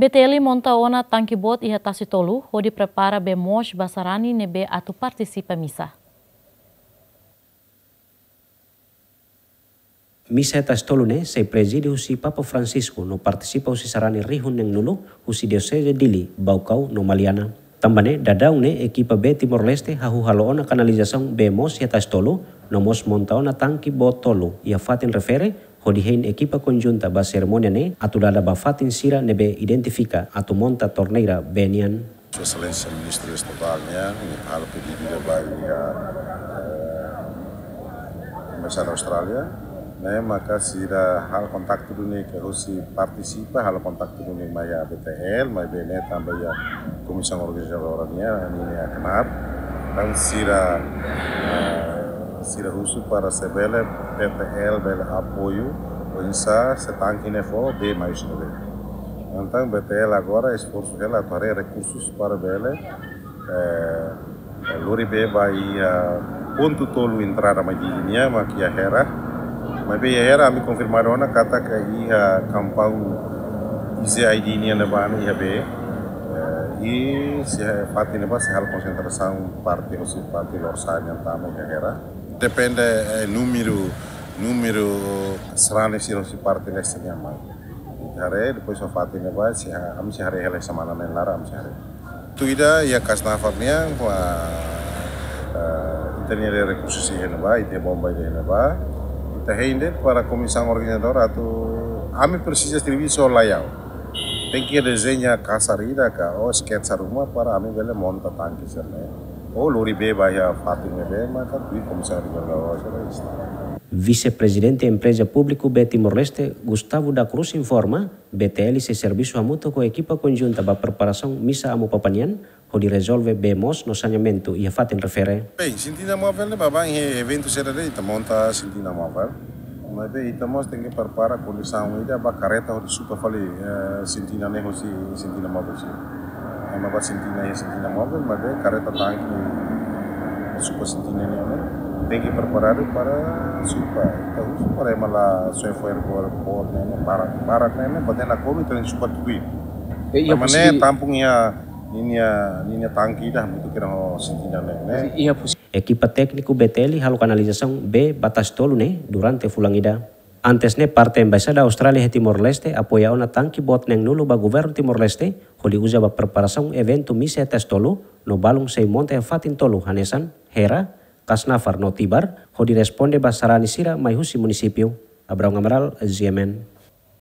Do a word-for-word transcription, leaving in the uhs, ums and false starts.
B T L monta ona tanki boot iha Tasi Tolu, hodi prepara bee moos ba sarani ne'ebé atu partisipa misa. Misa iha Tasi Tolu ne'e sei prezide husi Papa Francisco no partisipa husi sarani rihun neen-nulu husi Dioseze Dili, Baucau no Maliana. Tanba ne'e, daudaun ne'e ekipa bee Timor-Leste hahú halo ona kanalizasaun bee moos iha Tasi Tolu, no mós monta ona tanki boot tolu iha fatin refere, hodi hein ekipa konjunta ba serimónia ne'e atu dada ba fatin sira ne'ebé identifika atu monta torneira bee nian. Sua Exelénsia Ministru Estatál nian, nia halo pedidu ba iha, eh, Embaixada Austrália, ne'e maka sira halo kontaktu duni ka husi partisipa, halo kontaktu duni mai iha B T L, maibé ne'e tanba iha komisaun organizadora nian, ninia knaar, entaun sira, eh, sira husu para se bele B T L bele apoiu, oinsá se tanki ne'e fó bee mai husi ne'ebé. Entaun B T L agora esforsu hela atu haree rekursus para bele, eh, lori bee ba iha pontu tolu entrada Maidigi nian, mak iha Hera. Maibé iha Hera ami konfirma ona katak iha kampaun I C I D nian ne'ebá ne'e iha bee. Eh, i se fatin ne'ebá sei halo konsentrasaun parte husi parte Lorosa'e nian tama iha Hera. Depende, eh, númeru, númeru sarani sira husi parte leste nian mai. Ita haree, depois iha fatin ne'ebá, sei ha-, ami sei haree hela semana neen laran, ami sei haree. Tuir ida iha Kasnafar nian, ah, ah, ita-nia rekursu sei iha ne'ebá, ita-nia bomba iha ne'ebá. Ita hein de'it para komisaun organizadora atu ami presiza servisu laiha. Tenke dezeña kasar ida ka, ou sketsa ruma para ami bele monta tanki sira-ne'e. Ou lori bee ba iha fatin ne'ebé, maka tuir komisaun organizadora sira. Vise-Prezidente Empreza Públiku Bee Timor-Leste, Gustavo da Cruz, informa, B T L sei servisu hamutuk ho ekipa konjunta ba preparasaun misa Amu Papa nian, hodi rezolve bee moos no saneamentu iha fatin refere. Bem, sintina móvel ne'e ba, ba iha eventu sira de'it ita monta sintina móvel. Maibé ita mós tenke prepara kondisaun ida ba kareta hodi supa fali, eh, sintina ne'e husi sintina móvel sira. Ema ba sintina iha sintina móvel, maibé kareta tanki supa sintina ne'e, ne'e tenke preparadu para supa. Ita husu para ema la soe fo'er boot, boot ne'e, ne'e barak, barak ne'e, ne'e, ba tena komi, tena supa tuir. E iha Tanba ne'e posisi tampung iha ninia, ninia tanki ida, butuh kira ho sintina ne'e, ne'e. Iha pos- Ekipa tékniku B T L halo kanalizasaun bee ba Tasi Tolu ne'e durante fulan ida. Antes ne'e parte Embaixada Austrália iha Timor-Leste apoia ona tanki boot neen-nulu ba governu Timor-Leste, hodi uza ba preparasaun eventu misa iha Tasi Tolu, no balun sei monta iha fatin tolu hanesan Hera, Kasnafar no Tibar, hodi responde ba sarani sira mai husi munisípiu. Abraão Amaral, G M N.